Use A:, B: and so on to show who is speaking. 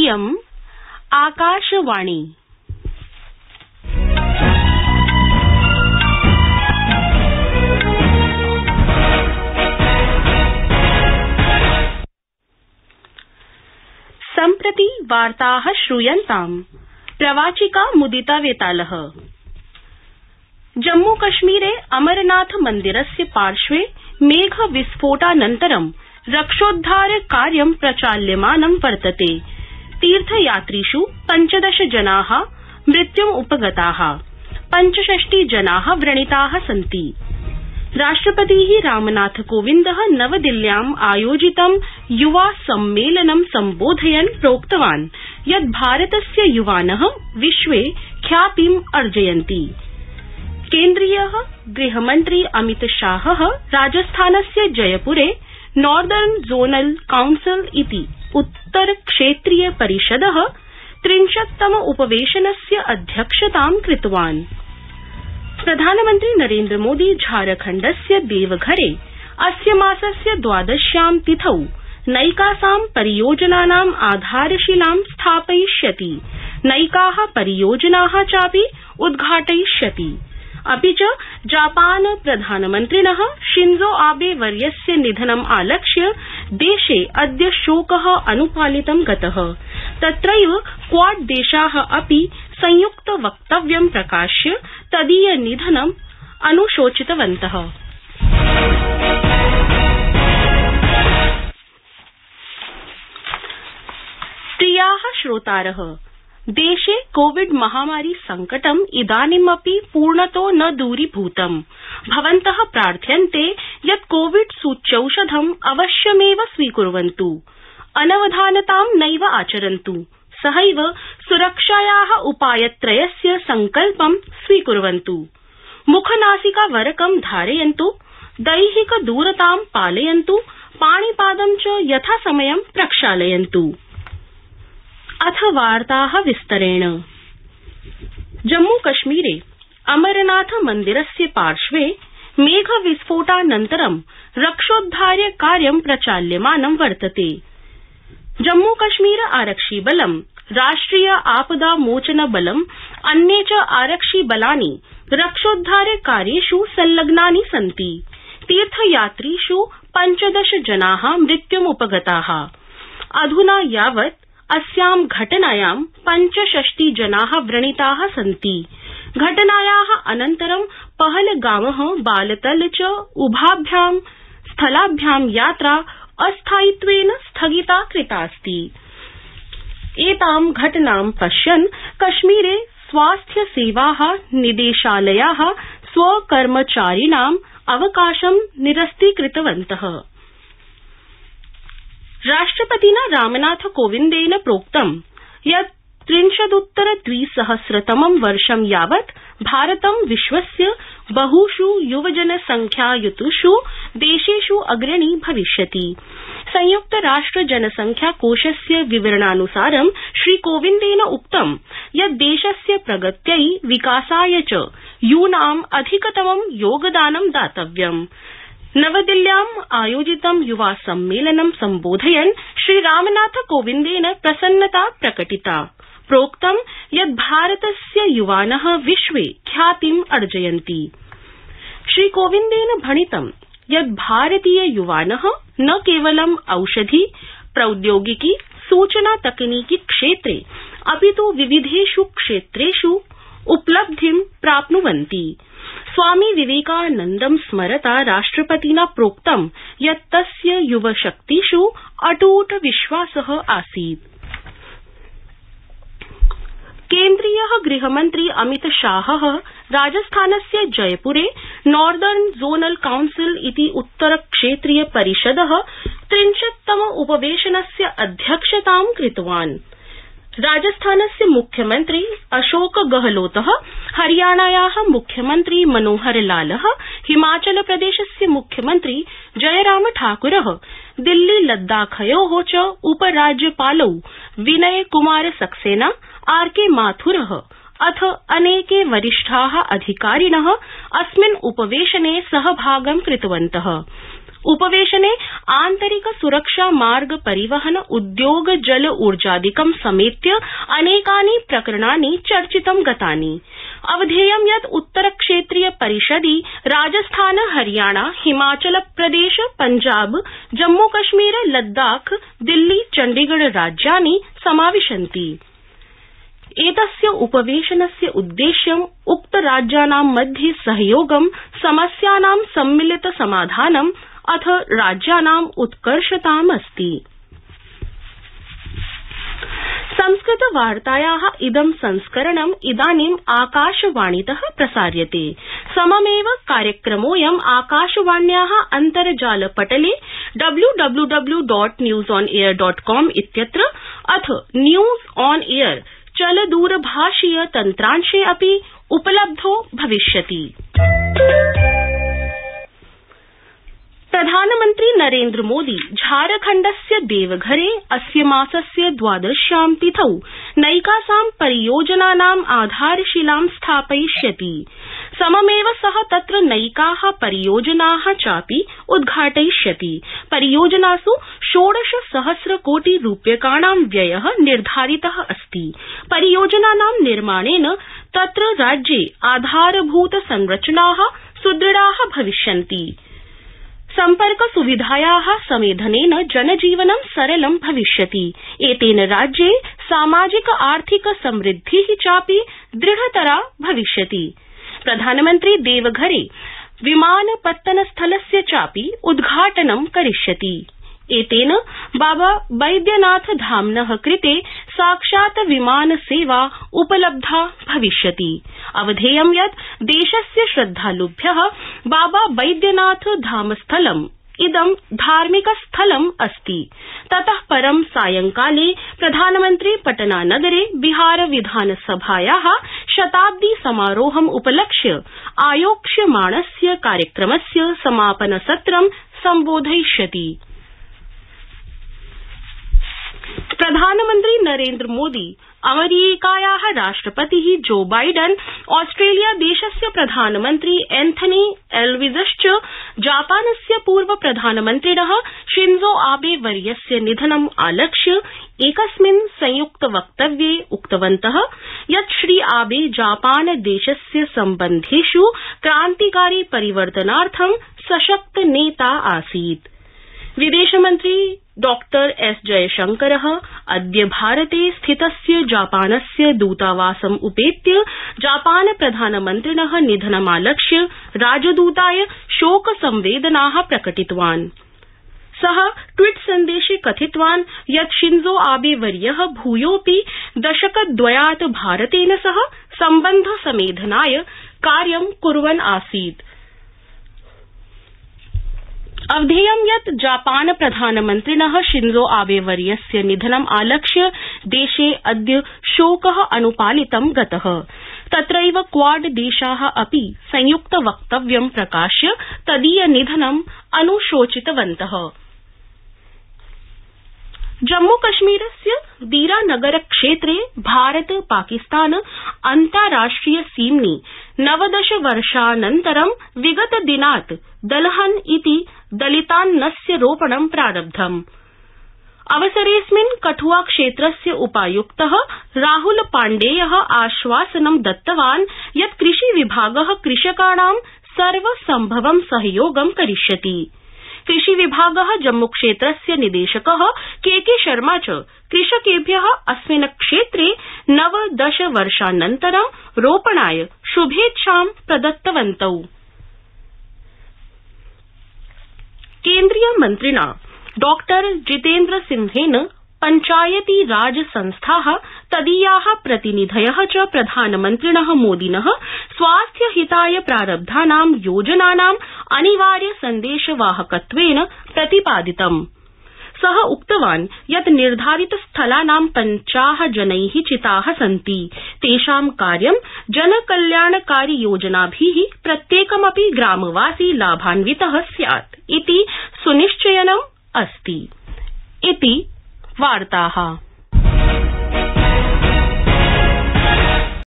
A: इयम् आकाशवाणी। सम्प्रति वार्ताः श्रूयन्ताम्। प्रवाचिका मुदिता वेतालः। जम्मूकश्मीरे अमरनाथ मन्दिरस्य पार्श्वे मेघविस्फोटानन्तरं रक्षोद्धार कार्यं प्रचाल्यमानं वर्तते। तीर्थयात्रिषु 15 जनाः मृत्युमुपगताः, 65 जनाः व्रणिताः सन्ति। राष्ट्रपतिः रामनाथ कोविन्दः नवदिल्ल्याम् आयोजितं युवा सम्मेलनं सम्बोधयन् प्रोक्तवान् यत् भारतस्य युवानः विश्वे ख्यातिम् अर्जयन्ति। केन्द्रीयः गृहमन्त्री अमितशाहः राजस्थानस्य जयपुरे नॉर्दर्न जोनल काउंसिल इति उत्तरक्षेत्रीय परिषदः 30तम उपवेशनस्य अध्यक्षतां कृतवान्। प्रधानमन्त्री नरेन्द्रमोदी झारखण्डस्य देवघरे अस्य मासस्य 12 तिथौ नैकासां परियोजनानाम् आधारशिलां स्थापयिष्यति, नैकाः परियोजनाः चापि उद्घाटयिष्यति। अपि च जापान प्रधानमन्त्रिणः शिंजो आबे वर्यस्य निधनम् आलक्ष्य देशे अद्य शोकः अनुपालितं गतः। तत्रैव क्वाड देशाः अपि संयुक्त वक्तव्यं प्रकाश्य तदीय निधनम् अनुशोचितवन्तः। प्रियाः श्रोतारः, देशे कोविड महामारी संकटम् इदानीमपि पूर्णतो न दूरीभूतम्। भवन्तः प्रार्थ्यन्ते यत् कोविड सूच्यौषधम् अवश्यमेव स्वीकुर्वन्तु, अनवधानतां नैव आचरन्तु, सहैव सुरक्षायाः उपायत्रयस्य संकल्पं स्वीकुर्वन्तु। मुखनासिकावरकं धारयन्तु, दैहिकदूरतां पालयन्तु, पाणिपादं च यथासमयं प्रक्षालयन्तु। अथ वार्ताः विस्तरेण। जम्मूकश्मीरे अमरनाथ मन्दिरस्य पार्श्वे मेघविस्फोटानन्तरं रक्षोद्धार कार्यं प्रचाल्यमानं वर्तते। जम्मूकश्मीर आरक्षिबलं, राष्ट्रिय आपदा मोचन बलं, अन्ये च आरक्षिबलानि रक्षोद्धार कार्येषु संलग्नानि सन्ति। तीर्थयात्रिषु 15 जनाः मृत्युमुपगताः। अधुना यावत् अस्यां घटनायां 65 जनाः व्रणिताः सन्ति। घटनायाः अनन्तरं पहलगामः बालतल च उभाभ्यां स्थलाभ्यां यात्रा अस्थायित्वेन स्थगिता कृतास्ति। एतां घटनां पश्यन् कश्मीरे स्वास्थ्यसेवाः निदेशालयाः स्वकर्मचारिणाम् अवकाशं निरस्तीकृतवन्तः। राष्ट्रपतिना रामनाथ कोविन्देन प्रोक्तं यत् 30उत्तर-2000तमं वर्षं यावत् भारतं विश्वस्य बहुषु युवजनसंख्यायुतुषु देशेषु अग्रणी भविष्यति। संयुक्तराष्ट्र जनसंख्याकोषस्य विवरणानुसारं श्रीकोविन्देन उक्तं यत् देशस्य प्रगत्यै विकासाय च यूनाम् अधिकतमं योगदानं दातव्यम्। नवदिल्ल्याम् आयोजितं युवा सम्मेलनं सम्बोधयन् श्रीरामनाथ कोविन्देन प्रसन्नता प्रकटिता। प्रोक्तं यत् भारतस्य युवानः विश्वे ख्यातिम् अर्जयन्ति। श्रीकोविन्देन भणितं यत् भारतीय युवानः न केवलं औषधि, प्रौद्योगिकी, सूचना तकनीकी क्षेत्रे अपितु विविधेषु क्षेत्रेषु उपलब्धिं प्राप्नुवन्ति। स्वामी विवेकानन्दं स्मरता राष्ट्रपतिना प्रोक्तं यत् तस्य युवशक्तिषु अटूट विश्वासः आसीत्। केन्द्रीयः गृहमन्त्री अमितशाहः राजस्थानस्य जयपुरे नॉर्दर्न जोनल काउंसिल इति उत्तरक्षेत्रीय परिषदः 30तम उपवेशनस्य अध्यक्षतां कृतवान्। राजस्थानस्य मुख्यमन्त्री अशोक गहलोतः, हरियाणायाः मुख्यमन्त्री मनोहर लालः, हिमाचलप्रदेशस्य मुख्यमन्त्री जयराम ठाकुरः, दिल्ली लद्दाखयोः च उपराज्यपालौ विनय कुमार सक्सेना, आरके माथुरः अथ अनेके वरिष्ठाः अधिकारिणः अस्मिन् उपवेशने सहभागं कृतवन्तः। उपवेशने आन्तरिक सुरक्षा मार्ग परिवहन उद्योग जल ऊर्जादिकं समेत्य अनेकानि प्रकरणानि चर्चितं गतानि। अवधेयं यत् उत्तरक्षेत्रीय परिषदि राजस्थान हरियाणा हिमाचल प्रदेश पंजाब जम्मूकश्मीर लद्दाख दिल्ली चण्डीगढ़ राज्यानि समाविशन्ति। एतस्य उपवेशनस्य उद्देश्यं उक्तराज्यानां मध्ये सहयोगं समस्यानां सम्मिलित समाधानम् अथ राज्यानाम् उत्कर्षताम् अस्ति। संस्कृतवार्तायाः इदं संस्करणम् इदानीम् आकाशवाणीतः प्रसार्यते। सममेव कार्यक्रमोऽयम् आकाशवाण्याः अन्तर्जालपटले www.newsonair.com इत्यत्र अथ न्यूज ऑन एयर चलदूरभाषीय तन्त्रांशे अपि उपलब्धो भविष्यति। प्रधानमन्त्री नरेन्द्र मोदी झारखण्डस्य देवघरे अस्य मासस्य 12 तिथौ नैकासां परियोजनानाम् आधारशिलां स्थापयिष्यति। सममेव सः तत्र नैकाः परियोजनाः चापि उद्घाटयिष्यति। परियोजनासु 16 सहस्र कोटि रूप्यकाणां व्ययः निर्धारितः अस्ति। परियोजनानां निर्माणेन तत्र राज्ये आधारभूत संरचनाः सुदृढाः भविष्यन्ति। सम्पर्क सुविधायाः समेधनेन जनजीवनं सरलं भविष्यति। एतेन राज्ये सामाजिक आर्थिक समृद्धिः चापि दृढतरा भविष्यति। प्रधानमन्त्री देवघरे विमानपत्तनस्थलस्य चापि उद्घाटनं करिष्यति। एतेन बाबा बैद्यनाथ धाम्नः कृते साक्षात् विमानसेवा उपलब्धा भविष्यति। अवधेयं यत् देशस्य श्रद्धालुभ्यः बाबा बैद्यनाथ धामस्थलम् इदं धार्मिक स्थलम् अस्ति। ततः परं सायंकाले प्रधानमन्त्री पटनानगरे बिहार विधानसभायाः शताब्दी समारोहम् उपलक्ष्य आयोक्ष्यमाणस्य कार्यक्रमस्य समापनसत्रं सम्बोधयिष्यति। प्रधानमन्त्री नरेन्द्र मोदी अमेरिकायाः राष्ट्रपतिः जो बाइडन ऑस्ट्रेलिया देशस्य प्रधानमन्त्री एंथनी एल्विजश्च जापानस्य पूर्व प्रधानमन्त्रिणः शिंजो आबे वर्यस्य निधनम् आलक्ष्य एकस्मिन् संयुक्त वक्तव्ये उक्तवन्तः यत् श्री आबे जापान देशस्य सम्बन्धेष् क्रान्तिकारी परिवर्तनार्थं सशक्त नेता आसीत्। विदेशमन्त्री डॉ एस जयशंकरः अद्य भारते स्थितस्य जापानस्य दूतावासम् उपेत्य जापान प्रधानमन्त्रिणः निधनमालक्ष्य राजदूताय शोकसंवेदनाः प्रकटितवान्। सः ट्वीट सन्देशे कथितवान् यत् शिंजो आबे वर्यः भूयोऽपि दशकद्वयात् भारतेन सह सम्बन्ध समेधनाय कार्यं कुर्वन् आसीत्। अवधेयं यत् जापान प्रधानमन्त्रिणः शिंजो आबे वर्यस्य निधनम् आलक्ष्य देशे अद्य शोकः अनुपालितं गतः। तत्रैव क्वाड देशाः अपि संयुक्त वक्तव्यं प्रकाश्य तदीय निधनम् अनुशोचितवन्तः। जम्मूकश्मीरस्य दीरानगर क्षेत्रे भारत पाकिस्तान अन्ताराष्ट्रिय सीम्नि 19 वर्षानन्तरं विगतदिनात् दलहन इति दलितान्नस्य रोपणं प्रारब्धम्। अवसरेऽस्मिन् कठुआ क्षेत्रस्य उपायुक्तः राहुल पाण्डेयः आश्वासनं दत्तवान् यत् कृषिविभागः कृषकाणां सर्वसम्भवं सहयोगं करिष्यति। कृषिविभागः जम्मूक्षेत्रस्य निदेशकः के शर्मा च कृषकेभ्यः अस्मिन् क्षेत्रे 19 वर्षानन्तरं रोपणाय शुभेच्छां प्रदत्तवन्तौ। केन्द्रीय मन्त्रिणा डॉ जितेन्द्र सिंहेन पंचायती राज संस्थाः तदीयाः प्रतिनिधयः च प्रधानमन्त्रिणः मोदिनः स्वास्थ्यहिताय प्रारब्धानां योजनानाम् अनिवार्य सन्देशवाहकत्वेन प्रतिपादितम्। सः उक्तवान् यत् निर्धारित स्थलानां 50 जनैः चिताः सन्ति। तेषां कार्यं जनकल्याणकारी योजनाभिः प्रत्येकमपि ग्रामवासी लाभान्वितः स्यात् इति सुनिश्चयनम् अस्ति। इति वार्ताः।